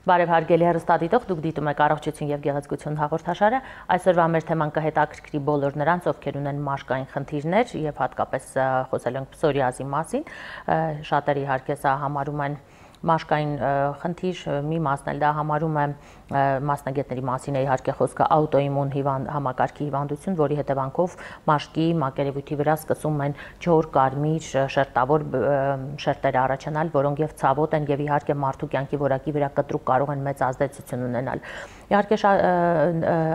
Բարև հարգելի հեռուստադիտող, դուք դիտում եք առողջություն եւ գեղեցկություն հաղորդաշարը։ Այսօրվա մեր թեման կհետաքրքրի բոլոր նրանց, ովքեր ունեն մաշկային խնդիրներ եւ հատկապես խոսել ենք պսորիազի մասին։ Շատերը իհարկե սա համարում են մաշկային խնդիր, մի մասն էլ դա համարում է մասնագետների մասին է իհարկե խոսքը աուտոիմուն համակարգի հիվանդություն, որի հետևանքով մաշկի մակերևույթի վրա սկսում են ջոր, կարմիր, շերտավոր շերտեր առաջանալ, որոնք եւ ցավոտ են եւ իհարկե մարդու կյանքի որակի վրա կտրուկ կարող են մեծ ազդեցություն ունենալ։ Իհարկե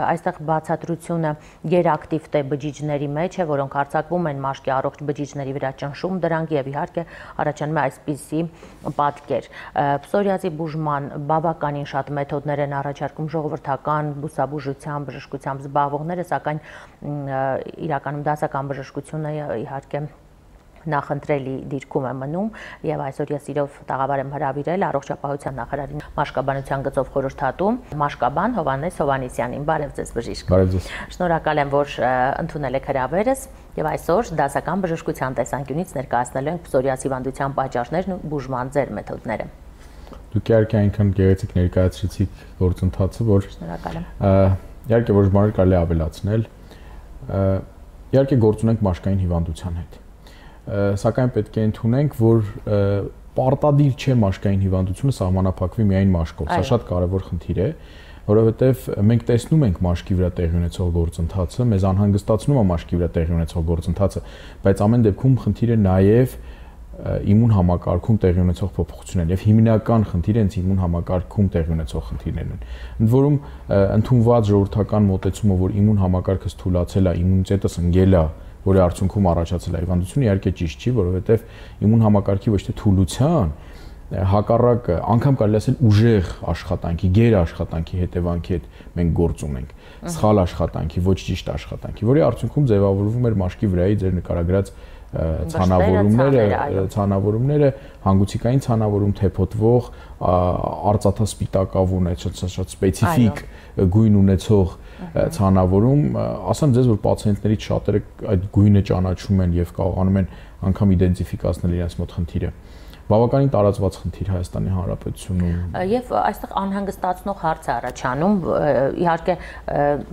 այստեղ բացատրությունը գերակտիվ թե բջիջների մեջ է, որոնք արձակվում են մաշկի առողջ բջիջների վրա, ճնշում դրանք եւ իհարկե առաջանում է այսպիսի պատկեր։ Պսորիազի բուժման բավականին շատ մեթոդներ են առաջարկում ժողովրդական բուսաբուժությամբ, բժշկությամբ զբաղվողները, սակայն իրականում դասական բժշկությունը իհարկե նախընտրելի դիրքում է մնում եւ այսօր ես իրով տաղավար եմ հրավիրել առողջապահության նախարարի մաշկաբանության գծով խորհրդատու մաշկաբան Հովհաննես Հովհաննիսյանին։ Բարև ձեզ բժիշկ։ Բարև ձեզ։ Շնորհակալ եմ, որ ընդունել եք հրավերս եւ այսօր դասական բժշկության տեսանկյունից ներկայացնելու ենք պսորիազ հիվանդության պատճառներն ու բուժման ձեր մեթոդները։ Դուք իհարկե այնքան գեղեցիկ ներկայացրեցիք գործընթացը, որ շնորհակալ եմ։ Իհարկե որոշ բաներ կարելի ավելացնել։ Իհարկե գործ ունենք մաշկային հիվանդության հետ։ Սակայն պետք է ընդունենք, որ պարտադիր չէ մաշկային հիվանդությունը սահմանափակվի միայն մաշկով։ Սա շատ կարևոր խնդիր է, որովհետև մենք տեսնում ենք մաշկի վրա տեղի ունեցող գործընթացը, մեզ անհանգստացնում է մաշկի վրա տեղի ունեցող գործընթացը, բայց ամեն դեպքում խնդիրը նաև իմուն համակարգում տեղի ունեցող փոփոխություններ եւ հիմնական խնդիրը հենց իմուն համակարգում տեղի ունեցող խնդիրներն են։ Ընդ որում ընդունված ժողովրդական մոտեցումը, որ իմուն համակարգը թուլացել է, իմունիտետը ընկել է, որի արդյունքում առաջացել է հիվանդությունը, իհարկե ճիշտ չի, որովհետև իմուն համակարգի ոչ թե թուլության, հակառակը անգամ կարելի ասել ուժեղ աշխատանքի, գեր աշխատանքի հետևանքի հետ մենք գործ ունենք, սխալ աշխատանքի, ոչ ճիշտ աշխատանքի, որի արդյունքում ձևավորվում էր մաշկի վրայի ձեր նկարագրած ցանավորումները, հանգուցիկային ցանավորում, թեփոտվող, արծաթասպիտակավուն, շատ սպეციფიկ գույն ունեցող ցանավորում, ասեմ ձեզ, որ պացիենտներից շատերը այդ գույնը ճանաչում են եւ կարողանում են անգամ իդենտիֆիկացնել իրենց մոտ խնդիրը։ Բավականին տարածված խնդիր Հայաստանի Հանրապետությունում։ Եվ այստեղ անհանգստացնող հարց է առաջանում, իհարկե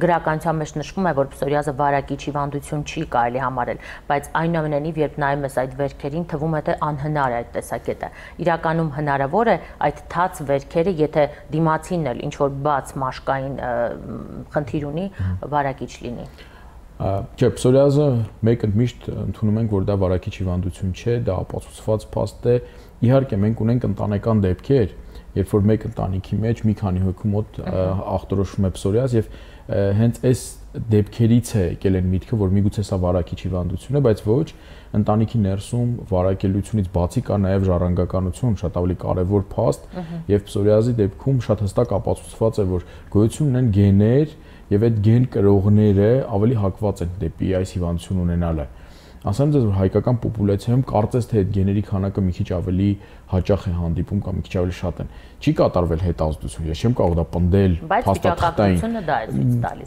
գրականության մեջ նշվում է, որ պսորիազը վարակիչ հիվանդություն չի կարելի համարել, բայց այնուամենայնիվ երբ նայում ես այդ վերքերին, թվում է թե անհնար է այդ տեսակետը։ Իրականում հնարավոր է այդ թաց վերքերը, եթե դիմացինն էլ ինչ որ բաց մաշկային խնդիր ունի, վարակիչ լինի։ Չէ, պսորիազը մեկ ընդմիշտ ընդունում ենք, որ դա վարակիչ հիվանդություն չէ, դա ապացուցված փաստ է։ Իհարկե մենք ունենք ընտանեկան դեպքեր, երբ որ մեկ ընտանիքի մեջ մի քանի հոգու մոտ ախտորոշվում է պսորիազ եւ հենց այս դեպքերից է եկել այն միտքը, որ միգուցե սա վարակիչ հիվանդություն է, բայց ոչ, ընտանիքի ներսում վարակելությունից բացի կա նաեւ ժառանգականություն, շատ ավելի կարեւոր փաստ, եւ պսորիազի դեպքում շատ հստակ ապացուցված է, որ գոյություն ունեն գեներ եւ այդ գեն կրողները ավելի հակված են դեպի այս հիվանդություն ունենալը։ Ասեմ ձեզ, որ հայկական պոպուլյացիայում կարծես թե այդ գեների քանակը մի քիչ ավելի հաճախ է հանդիպում կամ մի քիչ ավելի շատ են։ Չի կատարվել հետազոտություն, ես չեմ կարող դա պնդել փաստաթղթային։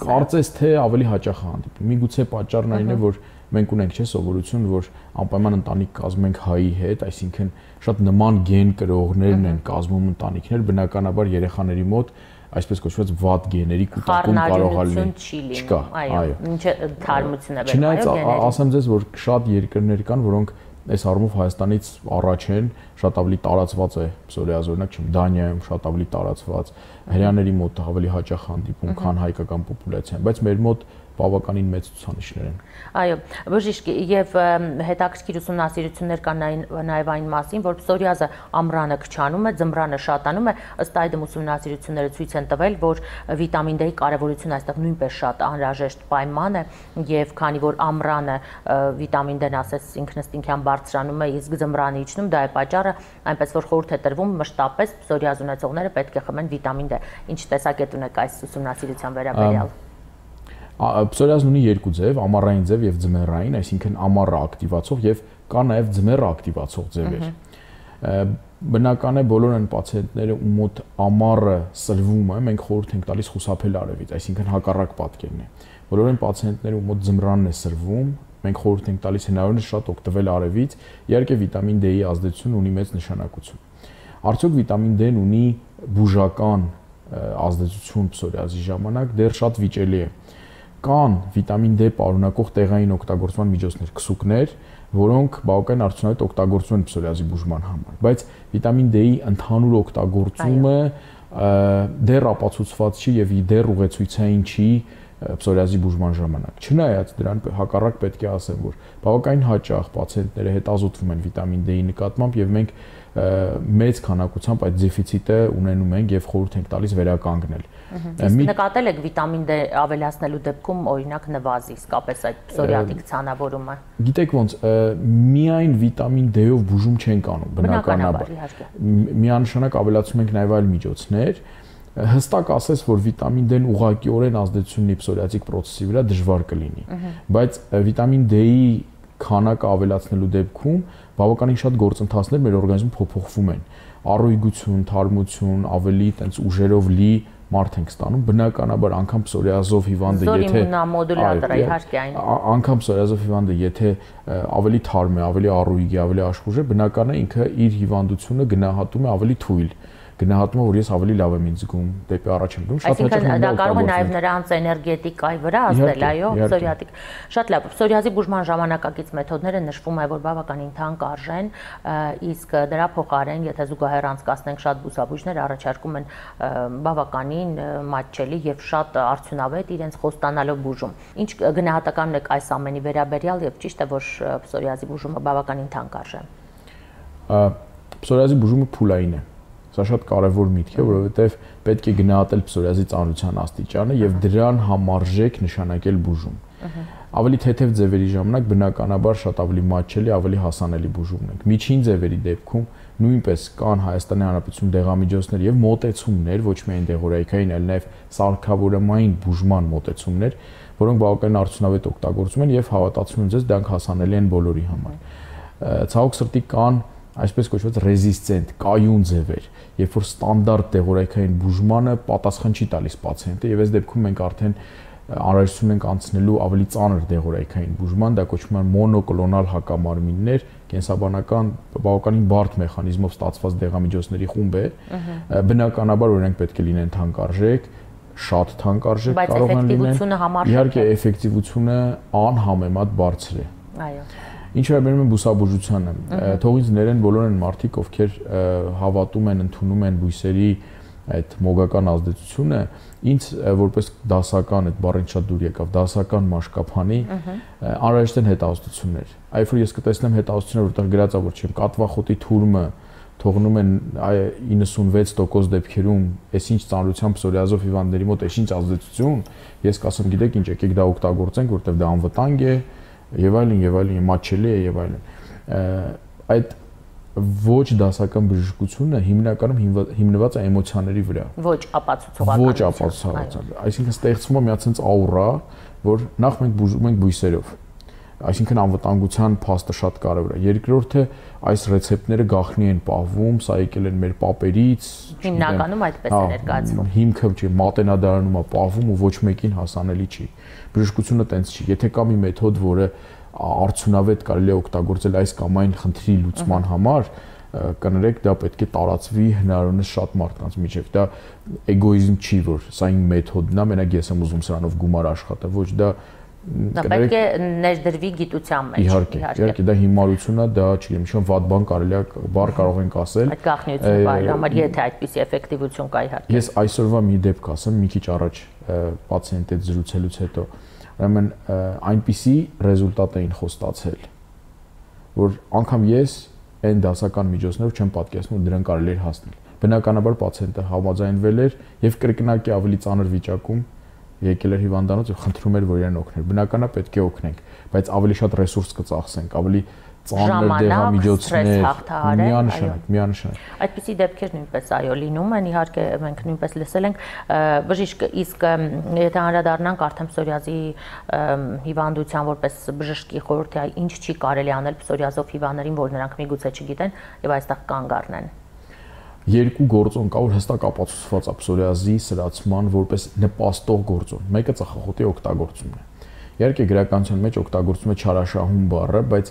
Կարծես թե ավելի հաճախ է հանդիպում։ Միգուցե պատճառն այն է, որ մենք ունենք չէ սովորություն, որ անպայման ընտանիք կազմում ենք հայի հետ, այսինքն շատ նման գեն կրողներն են կազմում ընտանիքներ, բնականաբար երեխաների մոտ այսպես կոչված վատ գեների կուտակում կարող է լինել։ Չկա, այո։ Ինչը թարմություն է բերում։ Չնայած ասեմ ձեզ, որ շատ երկրներ կան, որոնք այս առումով Հայաստանից առաջ են, շատ ավելի տարածված է պսորիազ, օրինակ չեմ, Դանիայում շատ ավելի տարածված, հрьяաների մոտ ավելի հաճախ հանդիպում, քան հայկական պոպուլյացիան, բայց մեր մոտ բավականին մեծ ցուցանիշներ են։ Այո, բժիշկ, եւ հետաքրքիր ուսումնասիրություններ կան նաեւ այն մասին, որ պսորիազը ամռանը քչանում է, ձմռանը շատանում է, ըստ այդմ ուսումնասիրությունները ցույց են տվել, որ վիտամին D-ի կարեւորությունը այստեղ նույնպես շատ անհրաժեշտ պայման է, եւ քանի որ ամռանը վիտամին D-ն ասես ինքնըստինքյան բարձրանում է, իսկ ձմռանը իջնում, դա է պատճառը, այնպես որ խորհուրդ է տրվում մշտապես պսորիազ ունեցողները պետք է խմեն վիտամին D։ Ինչ տեսակետ ունեք այս ուսումնասիրության վերաբերյալ։ Պսորիազն ունի երկու ձև, ամառային ձև եւ ձմեռային, այսինքն ամառը ակտիվացող եւ կա նաեւ ձմեռը ակտիվացող ձևեր։ Բնական է բոլոր այն պացիենտները, ում մոտ ամառը սրվում է, մենք խորհուրդ ենք տալիս խուսափել արևից, այսինքն հակառակ պատկերն է։ Բոլոր այն պացիենտները, ում մոտ ձմռանն է սրվում, մենք խորհուրդ ենք տալիս հնարավորինս շատ օգտվել արևից, իհարկե վիտամին D-ի ազդեցություն ունի մեծ նշանակություն։ Արդյոք վիտամին D-ն ունի բուժական ազդեցություն պսորիազի ժամանակ, դեռ շատ վիճելի է։ Կան վիտամին D պարունակող տեղային օգտագործման միջոցներ, քսուկներ, որոնք բավական արդյունավետ օգտագործվում են պսորիազի բուժման համար, բայց վիտամին D-ի ընդհանուր օգտագործումը դեռ ապացուցված չի եւ դեռ ուղեցույցային չի պսորիազի բուժման ժամանակ։ Չնայած դրան հակառակ պետք է ասեմ, որ բավականին հաճախ պացիենտները հետազոտվում են վիտամին D-ի նկատմամբ եւ մենք մեծ քանակությամբ այդ դեֆիցիտը ունենում ենք եւ խորհուրդ ենք տալիս վերականգնել։ Նկատել եք վիտամին D ավելացնելու դեպքում օրինակ նվազի իսկապես այդ պսորիատիկ ցանավորումը։ Գիտեք ոնց, միայն վիտամին D-ով բուժում չենք անում բնականաբար։ Միանշանակ ավելացում ենք նաեւ այլ միջոցներ։ Հստակ ասես, որ վիտամին D-ն ուղղակիորեն ազդեցություն ունի պսորիատիկ process-ի վրա դժվար կլինի, բայց վիտամին D-ի քանակը ավելացնելու դեպքում բավականին շատ գործընթացներ մեր օրգանիզմում փոփոխվում են։ Առույգություն, թարմություն, ավելի տենց ուժերով լի մարդ ենք ստանում, բնականաբար անգամ պսորիազով հիվանդը եթե մոդուլատորը իհարկե այն անգամ պսորիազով հիվանդը եթե ավելի թարմ է, ավելի առույգ է, ավելի աշխուժ է, բնական է ինքը իր հիվանդությունը գնահատում է ավելի թույլ, գնահատում է, որ ես ավելի լավ եմ ինձ զգում, դեպի առաջ եմ գնում, շատ հաճախ դա կարող է նաև նրանց էներգետիկայի վրա ազդել, այո, պսորիատիկ։ Շատ լավ, պսորիազի բուժման ժամանակակից մեթոդները նշվում է, որ բավականին թանկ արժեն, իսկ դրա փոխարեն, եթե զուգահեռ անցկացնենք շատ բուսաբույժներ առաջարկում են բավականին մատչելի եւ շատ արդյունավետ իրենց խոստանալով բուժում։ Ինչ գնահատական եք այս ամենի վերաբերյալ եւ ճիշտ է, որ պսորիազի բուժումը բավականին թանկ արժե։ Պսորիազի բուժումը փուլային է։ Սա շատ կարևոր միտք է, որովհետև պետք է գնահատել պսորիազի ծանրության աստիճանը եւ դրան համարժեք նշանակել բուժում։ Ավելի թեթև ձևերի ժամանակ բնականաբար շատ ավելի մատչելի, ավելի հասանելի բուժումն է։ Միջին ձևերի դեպքում նույնպես կան Հայաստանի Հանրապետությունում դեղամիջոցներ եւ մոտեցումներ, ոչ միայն դեղորայքային, այլ նաեւ սարքավորումային բուժման մոտեցումներ, որոնք բավականին արդյունավետ օգտագործում են եւ հավատացնում եմ ձեզ, դրանք հասանելի են բոլորի համար։ Ցավոք սրտի կան այսպես կոչված ռեզիստենտ, կայուն ձևեր, երբ որ ստանդարտ դեղորայքային բուժմանը պատասխան չի տալիս պացիենտը եւ այս դեպքում մենք արդեն անհրաժեշտություն ենք անցնելու ավելի ծանր դեղորայքային բուժման, դա կոչվում է մոնոկլոնալ հակամարմիններ, կենսաբանական բավականին բարդ մեխանիզմով ստացված դեղամիջոցների խումբ է, բնականաբար օրինակ պետք է լինեն թանկարժեք, շատ թանկարժեք կարող են լինել, իհարկե էֆեկտիվությունը անհամեմատ բարձր է։ Այո։ Ինչ վերաբերում է բուսաբուժությանը, թողից ներեն բոլոր են մարդիկ, ովքեր հավատում են, ընդունում են բույսերի այդ մոգական ազդեցությունը, ինձ որպես դասական այդ բառին շատ դուր եկավ, դասական մաշկափանի անհրաժեշտ են հետազոտություններ։ Այլ որ ես կտեսնեմ հետազոտություններ, որտեղ գրած է, որ չեմ կատվախոտի թուրմը թողնում են 96% դեպքերում, այսինչ ծանրությամբ պսորիազով հիվանդների մոտ այսինչ ազդեցություն, ես կասեմ, գիտեք ինչ, եկեք դա օգտագործենք, որտեղ դա անվտանգ է եւ այլն, մատչելի է եւ այլն։ Այդ ոչ դասական բժշկությունը հիմնականում հիմնված է էմոցիաների վրա։ Ոչ ապացուցողական։ Ոչ ապացուցողական։ Այսինքն ստեղծվում է մի հատ աուրա, որ նախ մենք բուժում ենք բույսերով։ Այսինքն անվտանգության փաստը շատ կարևոր է։ Երկրորդը այս ռեցեպտները գաղտնի են պահվում, սա եկել են մեր պապերից, հիմնականում այդպես է ներկայացվում։ Հիմքը չի մատենադարանում է պահվում ու ոչ մեկին հասանելի չի։ Բժշկությունը տենց չի։ Եթե կա մի մեթոդ, որը արդյունավետ կարելի է օգտագործել այս կամ այն խնդրի լուծման համար, կներեք, դա պետք է տարածվի հնարավորինս շատ մարդկանց միջև։ Դա էգոիզմ չի, որ սա իմ մեթոդն է, մենակ ես եմ ուզում սրանով գումար աշխատել, ոչ դա Դա պետք է ներդրվի գիտության մեջ։ Իհարկե, դա հիմարություն է, դա չգիտեմ, ինչ-որ վատ բան կարելի է բառ կարող ենք ասել։ Այդ գաղտնիությունը բայր համար, եթե այդպիսի էֆեկտիվություն կա իհարկե։ Ես այսօրվա մի դեպք ասեմ, մի քիչ առաջ պացիենտի հետ զրուցելուց հետո, ուրեմն այնպիսի ռեզուլտատ էին խոստացել, որ անգամ ես այն դասական միջոցներով չեմ պատկերացնում, դրան կարելի էր հասնել։ Բնականաբար պացիենտը համաձայնվել էր եւ կրկնակի ավելի ծանր վիճակում եկել էր հիվանդանոց եւ խնդրում էր, որ իրեն օգներ։ Բնականաբար պետք է օգնենք, բայց ավելի շատ ռեսուրս կծախսենք, ավելի ծանր դեղամիջոցներ, միանշանակ։ Այդպիսի դեպքեր նույնպես այո լինում են, իհարկե մենք նույնպես լսել ենք բժիշկ, իսկ եթե անդրադառնանք արդեն պսորիազի հիվանդության որպես բժշկի խորհրդի, ինչ չի կարելի անել պսորիազով հիվանդներին, որ նրանք միգուցե չգիտեն եւ այստեղ կանգ առնեն։ Երկու գործոն կա, որ հստակ ապացուցված է պսորիազի սրացման որպես նպաստող գործոն։ Մեկը ծխախոտի օգտագործումն է։ Իհարկե գրականության մեջ օգտագործվում է չարաշահում բառը, բայց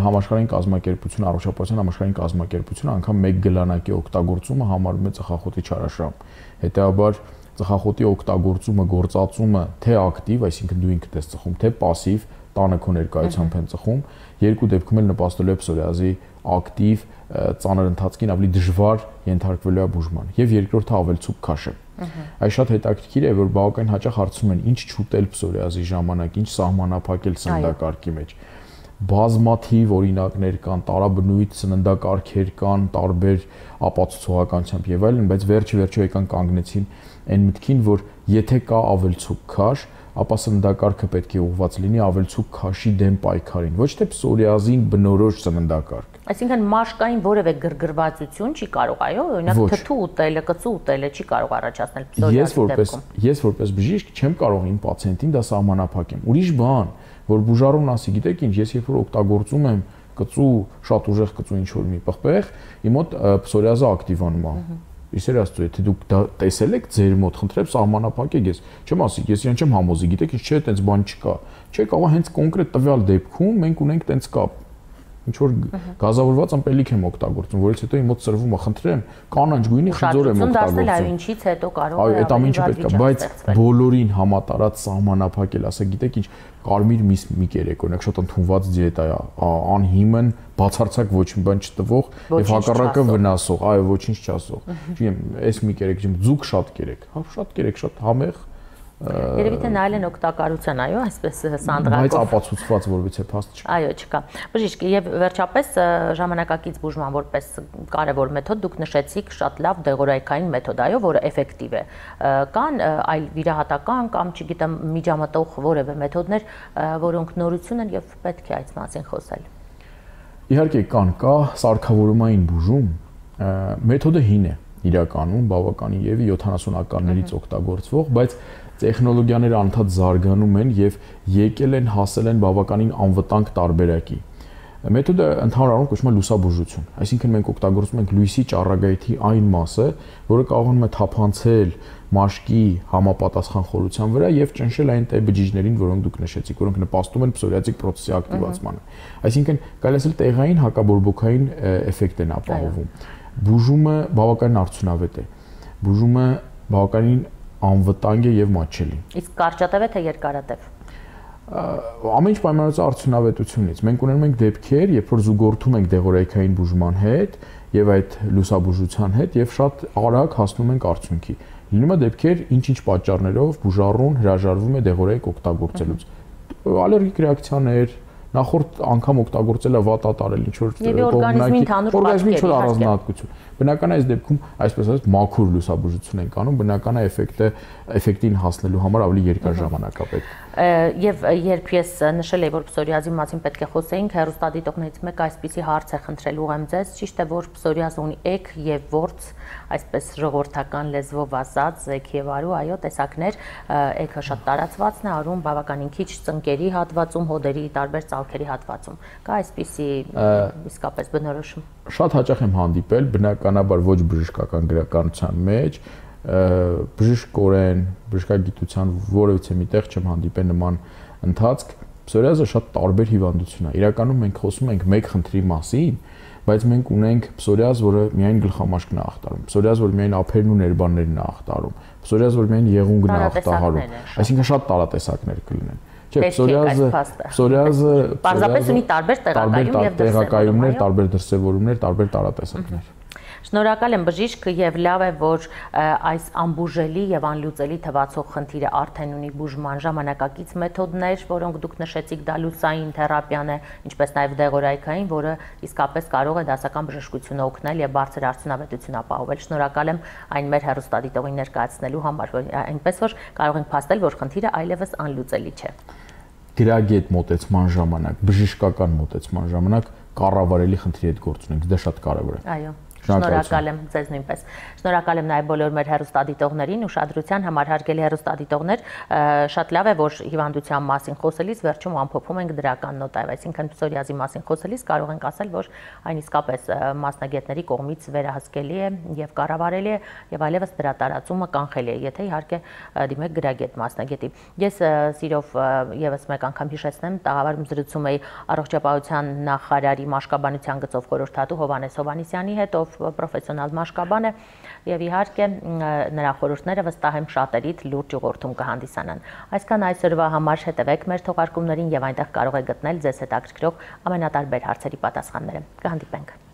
համաշխարհային կազմակերպությունը, առողջապահության համաշխարհային կազմակերպությունը անգամ մեկ գլանակի օգտագործումը համարում է ծխախոտի չարաշահում։ Հետևաբար ծխախոտի օգտագործումը, գործածումը թե ակտիվ, այսինքն դու ինքդ ես ծխում, թե пассив, տանը քո ներկայությամբ են ծխում, երկու դեպքում էլ նպաստելու է պսորիազի ակտիվ ծանր ընթացքին ավելի դժվար ենթարկվելու է բուժման։ Եվ երկրորդը ավելցուկ քաշը։ Այս շատ հետաքրքիր է, որ բավական հաճախ հարցում են, ինչ չուտել պսորիազի ժամանակ, ինչ սահմանափակել սննդակարգի մեջ։ Բազմաթիվ օրինակներ կան, տարաբնույթ սննդակարգեր կան, տարբեր ապացուցողականությամբ եւ այլն, բայց վերջը եկան կանգնեցին այն մտքին, որ եթե կա ավելցուկ քաշ, ապա սննդակարգը պետք է ուղղված լինի ավելցուկ քաշի դեմ պայքարին, ոչ թե պսորիազին բնորոշ սննդակարգ։ Այսինքն մաշկային որևէ գրգռվածություն չի կարող, այո, օրինակ թթու ուտելը, կծու ուտելը չի կարող առաջացնել պսորիազի դեպքում։ Ես որպես բժիշկ չեմ կարող իմ պացիենտին դա սահմանափակեմ։ Ուրիշ բան, որ բուժարուն ասի, գիտեք ինչ, ես երբ որ օգտագործում եմ կծու, շատ ուժեղ կծու ինչ որ մի պղպեղ, իմ մոտ պսորիազը ակտիվանում է։ Իսեր աստծո, եթե դուք դա տեսել եք ձեր մոտ, խնդրեմ սահմանափակեք, ես չեմ ասի, ես իրեն չեմ համոզի, գիտեք ինչ, չէ, այտենց բան չկա։ Չէ, կարող հենց կոնկրետ տվյալ դեպքում մենք ունենք այտենց կապ։ Ինչ որ գազավորված ըմպելիք եմ օգտագործում, որից հետո իմ մոտ սրվում է, խնդրեմ, կանաչ գույնի խնձոր եմ օգտագործում։ Այո, ինչից հետո կարող է այո, այդ ամեն ինչը պետք է, բայց բոլորին համատարած սահմանափակել, ասեք, գիտեք ինչ, կարմիր միս մի կերեք, օրինակ շատ ընդունված դիետա է, անհիմն, բացարձակ ոչ մի բան չտվող եւ հակառակը վնասող, այո, ոչինչ չասող։ Չգիտեմ, այս մի կերեք, ձուկ շատ կերեք, հա, շատ կերեք, շատ համեղ։ Երևի թե նայել են օգտակարության, այո, այսպես սանդղակով։ Բայց ապացուցված որևիցե փաստ չկա։ Այո, չկա։ Բժիշկ, եւ վերջապես ժամանակակից բուժման որպես կարևոր մեթոդ դուք նշեցիք շատ լավ դեղորայքային մեթոդ, այո, որը էֆեկտիվ է։ Կան այլ վիրահատական կամ, չգիտեմ, միջամտող որևէ մեթոդներ, որոնք նորություն են եւ պետք է այդ մասին խոսել։ Իհարկե կա սարքավորումային բուժում, մեթոդը հին է իրականում, բավականին եւ 70-ականներից օգտագործվող, բայց տեխնոլոգիաները անդադ զարգանում են եւ եկել են հասել են բավականին անվտանգ տարբերակի։ Մեթոդը ընդհանուր առմամբ կոչվում է լուսաբուժություն, այսինքն մենք օգտագործում ենք լույսի ճառագայթի այն մասը, որը կարողանում է թափանցել մաշկի համապատասխան խորության վրա եւ ճնշել այն տե բջիջներին, որոնք դուք նշեցիք, որոնք նպաստում են պսորիազիկ պրոցեսի ակտիվացմանը։ Այսինքն կարելի է տեղային հակաբորբոքային էֆեկտ են ապահովում։ Բուժումը բավականին արդյունավետ է։ Բուժումը բավականին անվտանգ է եւ մատչելի։ Իսկ կարճատև է թե երկարատև։ Ամեն ինչ պայմանավորված արդյունավետությունից։ Մենք ունենում ենք դեպքեր, երբ որ զուգորդում ենք դեղորայքային բուժման հետ եւ այդ լուսաբուժության հետ եւ շատ արագ հասնում ենք արդյունքի։ Լինում է դեպքեր, ինչ-ինչ պատճառներով բուժառուն հրաժարվում է դեղորայք օգտագործելուց։ Ալերգիկ ռեակցիաներ, նախորդ անգամ օգտագործելը վատատարել ինչ որ օրգանիզմի ընդհանուր առանձնահատկություն։ Բնական է այս դեպքում, այսպես ասած, մաքուր լուսաբուժություն ենք անում, բնական է էֆեկտին հասնելու համար ավելի երկար ժամանակ է պետք։ Եվ երբ ես նշել եմ, որ պսորիազի մասին պետք է խոսեինք, հեռուստադիտողներից մեկը այսպիսի հարց է խնդրել ուղեմ ձեզ, ճիշտ է, որ պսորիազը ունի էգ եւ որց, այսպես ժողովրդական լեզվով ասած, էգ եւ արու, այո, տեսակներ, էգը շատ տարածվածն է, արուն բավականին քիչ ծնկերի հատվածում, հոդերի տարբեր ծալքերի հատվածում։ Կա այսպիսի իսկապես բնորոշում։ Շատ հաճախ եմ հանդիպել, բնականաբար ոչ բժշկական գրականության մեջ, բժշկորեն, բժշկագիտության որևիցե միտեղ չեմ հանդիպել նման ընթացք, պսորիազը շատ տարբեր հիվանդություն է։ Իրականում մենք խոսում ենք մեկ խնդրի մասին, բայց մենք ունենք պսորիազ, որը միայն գլխամաշկն է ախտարում, պսորիազ, որը միայն ափերն ու ներբաններն է ախտարում, պսորիազ, որը միայն եղունգն է ախտահարում, այսինքն շատ տարատեսակներ կլինեն։ Չէ, պսորիազը պարզապես ունի տարբեր տեղակայումներ, տարբեր դրսևորումներ, տարբեր տարատեսակներ։ Շնորհակալ եմ բժիշկ եւ լավ է, որ այս անբուժելի եւ անլուծելի թվացող խնդիրը արդեն ունի բուժման ժամանակակից մեթոդներ, որոնք դուք նշեցիք, դա լուսային թերապիան է, ինչպես նաեւ դեղորայքային, որը իսկապես կարող է դասական բժշկությունը օգնել եւ բարձր արդյունավետություն ապահովել։ Շնորհակալ եմ այն մեր հեռուստադիտողին ներկայացնելու համար, այնպես որ կարող ենք փաստել, որ խնդիրը այլևս անլուծելի չէ։ Գրագետ մոտեցման ժամանակ, բժշկական մոտեցման ժամանակ կառավարելի խնդրի հետ գործ ունենք, դա շատ կարեւոր է։ Այո։ Շնորհակալ եմ ձեզ նույնպես։ Շնորհակալ եմ նաև բոլոր մեր հեռուստադիտողներին, ուշադրության համար հարգելի հեռուստադիտողներ, շատ լավ է, որ հիվանդության մասին խոսելիս վերջում ամփոփում ենք դրական նոտայով, այսինքն պսորիազի մասին խոսելիս կարող ենք ասել, որ այն իսկապես մասնագետների կողմից վերահսկելի է եւ կառավարելի է եւ այլևս դրա տարածումը կանխելի է, եթե իհարկե դիմեք գրագետ մասնագետի։ Ես սիրով եւս մեկ անգամ հիշեցնեմ, տաղավարում զրուցում էի առողջապահության նախարարի մաշկաբանության գծով խորհրդատու Հովհաննես Հովհաննիսյանի հետ, ով պրոֆեսիոնալ մաշկաբան է եւ իհարկե նրա խորհուրդները վստահ եմ շատերիդ լուրջ ուղղորդում կհանդիսանան։ Այսքան այսօրվա համար, հետևեք մեր թողարկումներին եւ այնտեղ կարող եք գտնել ձեզ հետաքրքրող ամենատարբեր հարցերի պատասխանները։ Կհանդիպենք։